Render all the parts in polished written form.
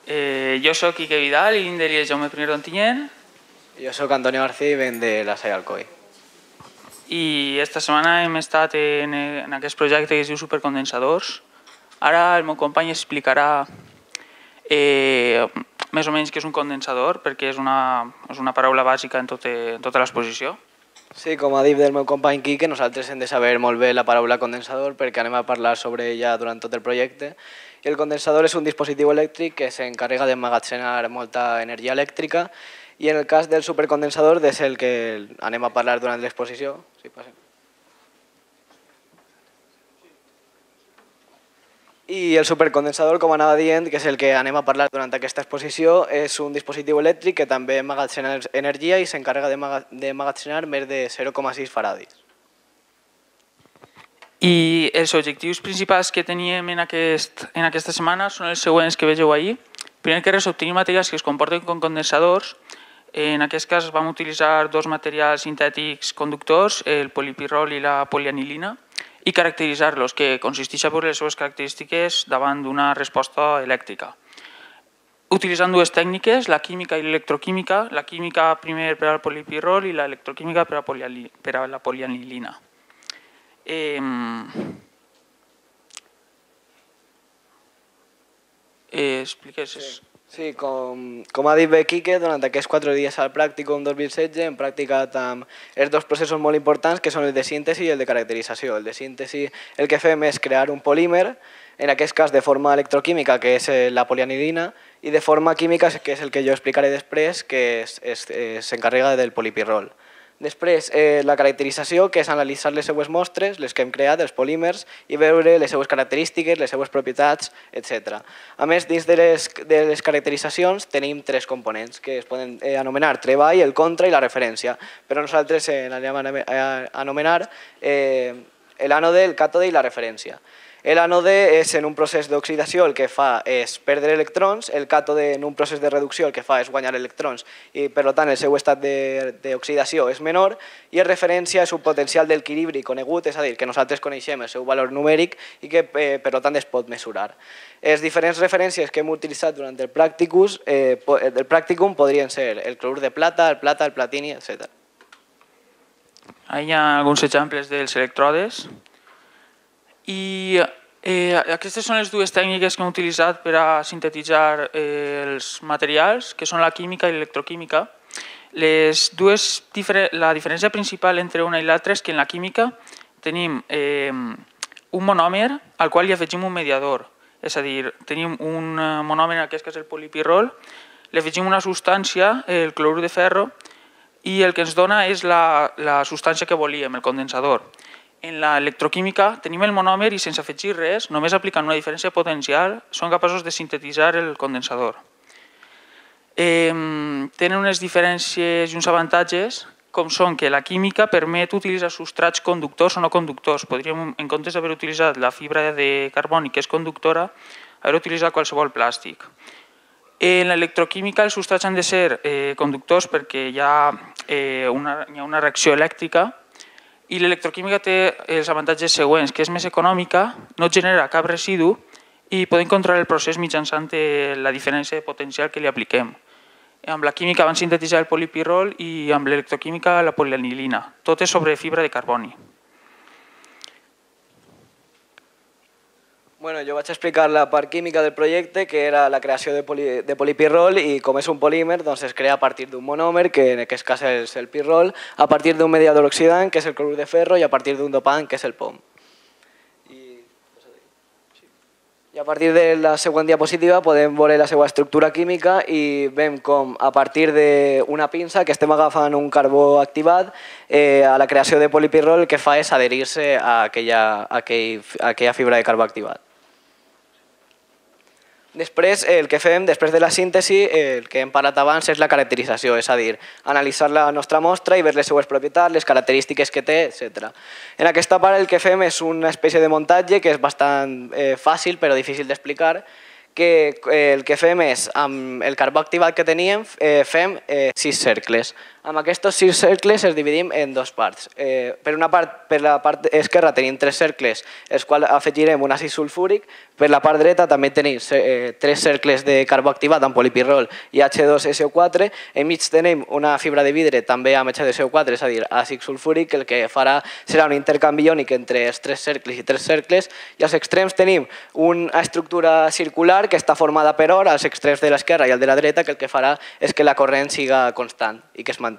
Jo sóc Quique Vidal i vinc de l'Illa Jaume I d'Ontinyent. Jo sóc Antonio García i venc de la Salle Alcoi. I esta setmana hem estat en aquest projecte que es diu Supercondensadors. Ara el meu company explicarà més o menys què és un condensador, perquè és una paraula bàsica en tota l'exposició. Sí, com ha dit el meu company Quique, nosaltres hem de saber molt bé la paraula condensador perquè anem a parlar sobre ella durant tot el projecte. I el condensador és un dispositiu elèctric que s'encarrega d'emmagatzemar molta energia elèctrica i en el cas del supercondensador és el que anem a parlar durant l'exposició. Sí, passem. I el supercondensador, com anava dient, que és el que anem a parlar durant aquesta exposició, és un dispositiu elèctric que també emmagatzema energia i s'encarrega d'emmagatzenar més de 0,6 faradis. I els objectius principals que teníem en aquesta setmana són els següents que vegeu ahir. Primer que res, obtenir materials que es comporten com condensadors. En aquest cas vam utilitzar dos materials sintètics conductors, el polipirrol i la polianilina, i caracteritzar-los, que consisteix a veure les seves característiques davant d'una resposta elèctrica. Utilitzant dues tècniques, la química i l'electroquímica, la química primer per al polipirrol i l'electroquímica per a la polianilina. Expliques... Sí, com ha dit bé Quique, durant aquests 4 dies al pràcticum 2016 hem practicat amb els dos processos molt importants que són el de síntesi i el de caracterització. El de síntesi el que fem és crear un polímer, en aquest cas de forma electroquímica, que és la polianilina, i de forma química, que és el que jo explicaré després, que s'encarrega del polipirrol. Després, la caracterització, que és analitzar les seues mostres, les que hem creat, els polímers, i veure les seues característiques, les seues propietats, etc. A més, dins de les caracteritzacions tenim 3 components que es poden anomenar treball, el contra i la referència, però nosaltres anem a anomenar l'ànode, el càtode i la referència. L'ànode és en un procés d'oxidació el que fa és perdre electrons, el càtode en un procés de reducció el que fa és guanyar electrons i per tant el seu estat d'oxidació és menor i en referència és un potencial d'equilibri conegut, és a dir, que nosaltres coneixem el seu valor numèric i que per tant es pot mesurar. Les diferents referències que hem utilitzat durant el pràcticum podrien ser el clorur de plata, el platini, etc. Hi ha alguns exemples dels electrodes. I aquestes són les dues tècniques que hem utilitzat per a sintetitzar els materials, que són la química i l'electroquímica. La diferència principal entre una i l'altra és que en la química tenim un monòmer al qual hi afegim un mediador. És a dir, tenim un monòmer, en aquest cas el polipirrol, li afegim una substància, el clorur de ferro, i el que ens dona és la substància que volíem, el condensador. En l'electroquímica tenim el monòmer i sense afegir res, només aplicant una diferència potencial, són capaços de sintetitzar el condensador. Tenen unes diferències i uns avantatges, com són que la química permet utilitzar substrats conductors o no conductors. Podríem, en comptes d'haver utilitzat la fibra de carboni, que és conductora, haver utilitzat qualsevol plàstic. En l'electroquímica els substrats han de ser conductors perquè hi ha una reacció elèctrica. I l'electroquímica té els avantatges següents, que és més econòmica, no genera cap residu i podem controlar el procés mitjançant la diferència de potencial que li apliquem. Amb la química van sintetitzar el polipirrol i amb l'electroquímica la polianilina. Tot és sobre fibra de carboni. Jo vaig explicar la part química del projecte, que era la creació de polipirrol i com és un polímer es crea a partir d'un monòmer, que en aquest cas és el pirrol, a partir d'un mediador oxidant, que és el clorur de ferro, i a partir d'un dopant, que és el POM. I a partir de la següent diapositiva podem veure la seva estructura química i veiem com a partir d'una pinça que estem agafant un carbó activat, a la creació de polipirrol el que fa és adherir-se a aquella fibra de carbó activat. Després, el que fem, després de la síntesi, el que hem parlat abans és la caracterització, és a dir, analitzar la nostra mostra i veure les seues propietats, les característiques que té, etc. En aquesta part el que fem és una espècie de muntatge que és bastant fàcil però difícil d'explicar, que el que fem és, amb el carbó activat que teníem, fem 6 cercles. Amb aquests 6 cercles els dividim en dues parts. Per la part esquerra tenim 3 cercles, els quals afegirem un àcid sulfúric. Per la part dreta també tenim 3 cercles de carbó activat amb polipirrol i H2SO4. Enmig tenim una fibra de vidre també amb H2SO4, és a dir, àcid sulfúric, que el que farà serà un intercanvi iònic entre els 3 cercles i 3 cercles. I als extrems tenim una estructura circular que està formada per or, als extrems de l'esquerra i el de la dreta, que el que farà és que la corrent siga constant i que es mantinga.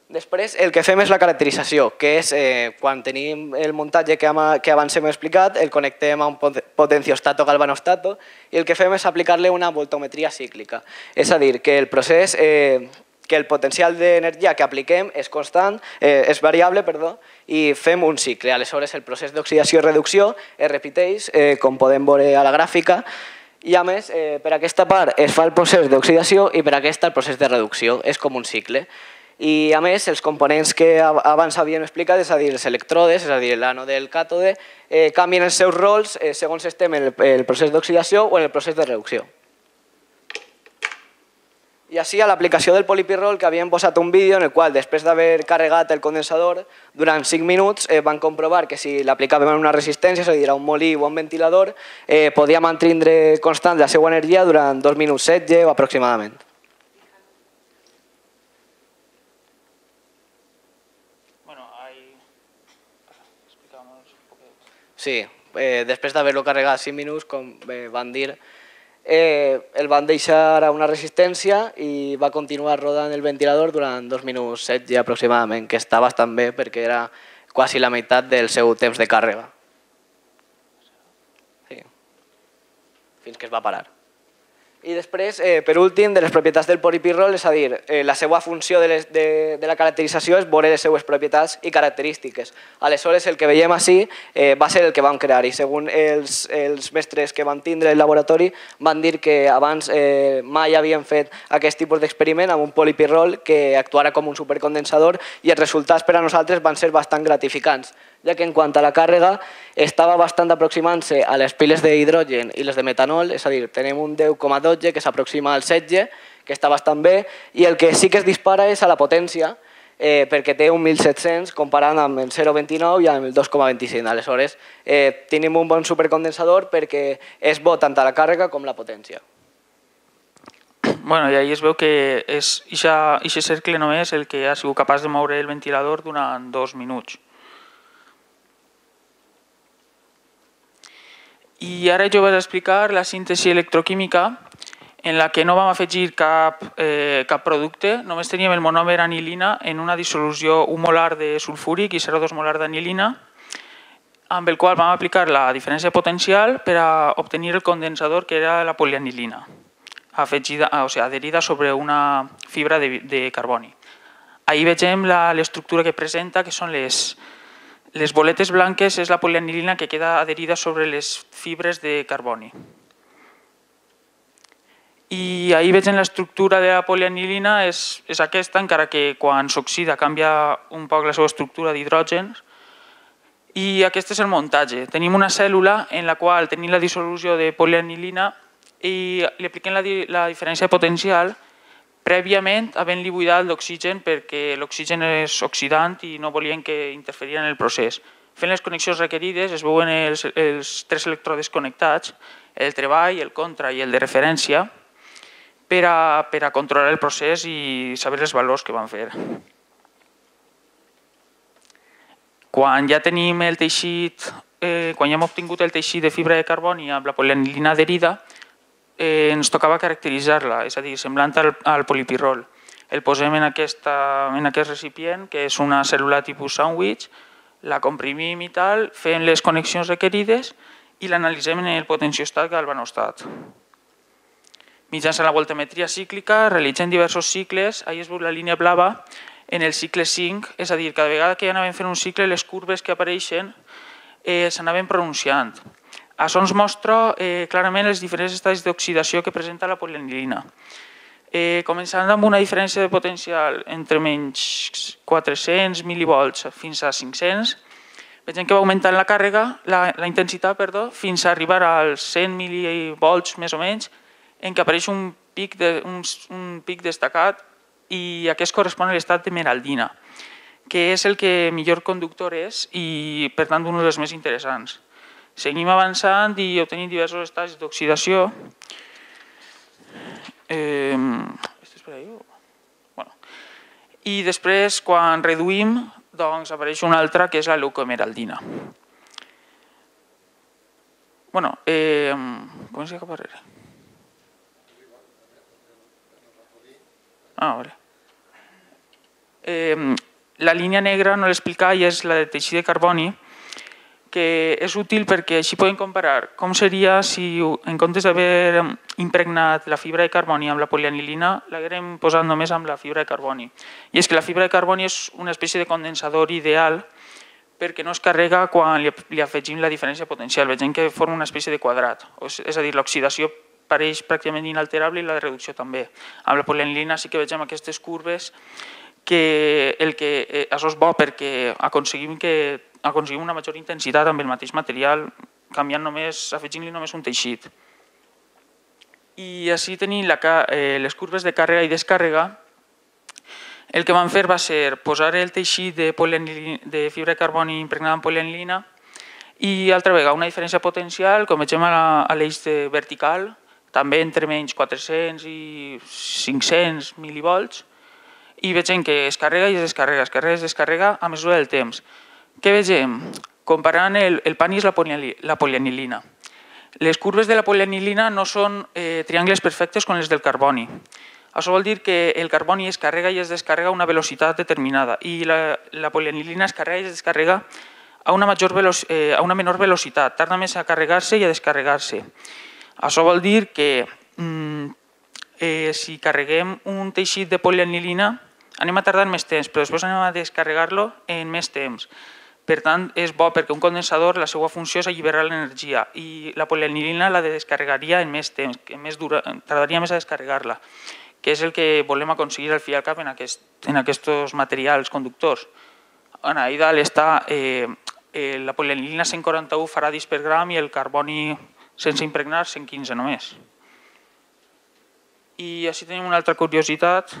Després el que fem és la caracterització, que és quan tenim el muntatge que abans hem explicat, el connectem a un potenciostato galvanostato i el que fem és aplicar-li una voltometria cíclica. És a dir, que el procés, que el potencial d'energia que apliquem és constant, és variable, i fem un cicle. Aleshores el procés d'oxidació i reducció es repeteix, com podem veure a la gràfica, i a més, per aquesta part es fa el procés d'oxidació i per aquesta el procés de reducció. És com un cicle. I a més, els components que abans havíem explicat, és a dir, els elèctrodes, és a dir, l'ànode i el càtode, canvien els seus rols segons estem en el procés d'oxidació o en el procés de reducció. I així, a l'aplicació del polipirrol, que havíem posat un vídeo en el qual, després d'haver carregat el condensador, durant 5 minuts van comprovar que si l'aplicàvem en una resistència, és a dir, a un molí o a un ventilador, podia mantindre constant la seva energia durant 2 minuts 16 o aproximadament. Sí, després d'haver-lo carregat 5 minuts, com van dir, el van deixar a una resistència i va continuar rodant el ventilador durant 2 minuts 16 aproximadament, que està bastant bé perquè era quasi la meitat del seu temps de càrrega. Sí. Fins que es va parar. I després, per últim, de les propietats del polipirrol, és a dir, la seva funció de la caracterització és veure les seues propietats i característiques. Aleshores, el que veiem així va ser el que vam crear i segons els mestres que van tindre el laboratori van dir que abans mai havien fet aquest tipus d'experiment amb un polipirrol que actuara com un supercondensador i els resultats per a nosaltres van ser bastant gratificants, ja que en quant a la càrrega estava bastant aproximant-se a les piles d'hidrogen i les de metanol, és a dir, tenim un 10,12 que s'aproxima al 16, que està bastant bé, i el que sí que es dispara és a la potència, perquè té un 1700 comparant amb el 0,29 i amb el 2,25. Aleshores, tenim un bon supercondensador perquè és bo tant a la càrrega com la potència. Bueno, i ahí es veu que és aquest cercle només el que ha sigut capaç de moure el ventilador durant 2 minuts. I ara jo vaig explicar la síntesi electroquímica en la que no vam afegir cap producte, només teníem el monòmer anilina en una dissolució 1 molar de sulfúric i 0,2 molar d'anilina, amb el qual vam aplicar la diferència potencial per a obtenir el condensador que era la polianilina, adherida sobre una fibra de carboni. Ahí vegem l'estructura que presenta, que són les boletes blanques, és la polianilina que queda adherida sobre les fibres de carboni. I ahí vegem l'estructura de la polianilina, és aquesta, encara que quan s'oxida canvia un poc la seva estructura d'hidrògens. I aquest és el muntatge. Tenim una cèl·lula en la qual tenim la dissolució de polianilina i li apliquem la diferència potencial prèviament havent-li buidat l'oxigen perquè l'oxigen és oxidant i no volien que interferia en el procés. Fent les connexions requerides es veuen els 3 elèctrodes connectats, el treball, el contra i el de referència, per a controlar el procés i saber els valors que van fer. Quan ja tenim el teixit, quan ja hem obtingut el teixit de fibra de carboni amb la polianilina adherida, ens tocava caracteritzar-la, és a dir, semblant al polipirrol. El posem en aquest recipient, que és una cèl·lula tipus sàndwich, la comprimim i tal, fem les connexions requerides i l'analitzem en el potenciostat galvanostat. Mitjançant la voltametria cíclica realitzem diversos cicles, ahí es veu la línia blava, en el cicle 5, és a dir, cada vegada que anàvem fent un cicle, les curves que apareixen s'anaven pronunciant. Això ens mostra clarament els diferents estadis d'oxidació que presenta la polianilina. Començant amb una diferència de potencial entre menys 400 mil·livolts fins a 500, veiem que va augmentant la intensitat fins a arribar als 100 mil·livolts més o menys, en què apareix un pic destacat i aquest correspon a l'estat d'emeraldina, que és el que millor conductor és i, per tant, un dels més interessants. Seguim avançant i obtenim diversos estats d'oxidació. I després, quan reduïm, doncs apareix una altra, que és la leucoemeraldina. Comença cap darrere. Vale. La línia negra no l'explica i és la de teixit de carboni, que és útil perquè així podem comparar com seria si en comptes d'haver impregnat la fibra de carboni amb la polianilina l'haguérem posat només amb la fibra de carboni. I és que la fibra de carboni és una espècie de condensador ideal perquè no es carrega quan li afegim la diferència potencial. Vegem que forma una espècie de quadrat, és a dir, l'oxidació pareix pràcticament inalterable i la reducció també. Amb la polianilina sí que vegem aquestes curves que això és bo perquè aconseguim una major intensitat amb el mateix material afegint-li només un teixit. I així tenim les curves de càrrega i descàrrega. El que vam fer va ser posar el teixit de fibra de carboni impregnada en polianilina i altra vegada una diferència potencial, com vegem a l'eix vertical, també entre menys 400 i 500 milivolts, i vegem que es carrega i es descarrega a mesura del temps. Què vegem? Comparant el PANIS i la polianilina. Les curves de la polianilina no són triangles perfectes com les del carboni. Això vol dir que el carboni es carrega i es descarrega a una velocitat determinada i la polianilina es carrega i es descarrega a una menor velocitat, tarda més a carregar-se i a descarregar-se. Això vol dir que si carreguem un teixit de polianilina anem a tardar més temps, però després anem a descarregar-lo en més temps. Per tant, és bo perquè un condensador, la seva funció és alliberar l'energia i la polianilina la descarregaria en més temps, tardaria més a descarregar-la, que és el que volem aconseguir al fi i al cap en aquests materials conductors. Ahí dalt està la polianilina 141 faradis per gram i el carboni sense impregnar 115 només. I així tenim una altra curiositat.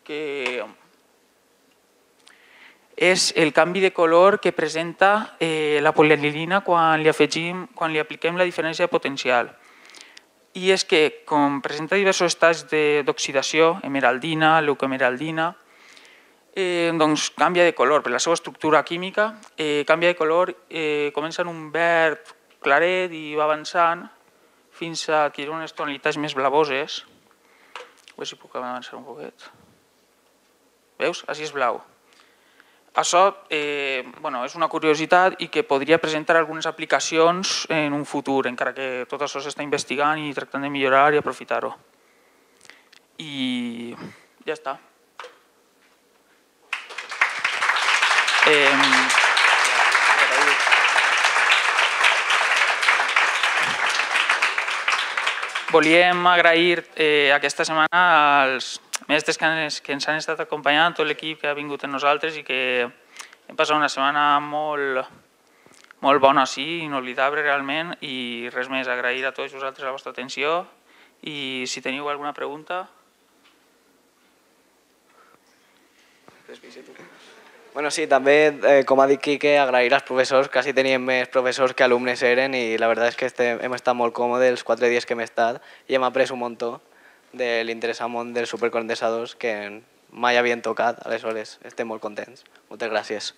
Que és el canvi de color que presenta la polianilina quan li apliquem la diferència potencial. I és que, com presenta diversos estats d'oxidació, emeraldina, leucoemeraldina, doncs canvia de color. Per la seva estructura química, canvia de color, comença en un verd claret i va avançant fins a adquirir unes tonalitats més blavoses. A veure si puc avançar un poquet. Veus? Així és blau. Això és una curiositat i que podria presentar algunes aplicacions en un futur, encara que tot això s'està investigant i tractant de millorar i aprofitar-ho. I ja està. Volíem agrair aquesta setmana als mestres que ens han estat acompanyant, tot l'equip que ha vingut amb nosaltres i que hem passat una setmana molt bona, sí, inolvidable realment, i res més, agrair a tots vosaltres la vostra atenció i si teniu alguna pregunta... Bueno, sí, també, com ha dit Quique, agrair als professors, quasi teníem més professors que alumnes eren i la veritat és que hem estat molt còmodes els 4 dies que hem estat i hem après un muntó de l'interessant món dels supercondensadors que mai havien tocat, aleshores estem molt contents. Moltes gràcies.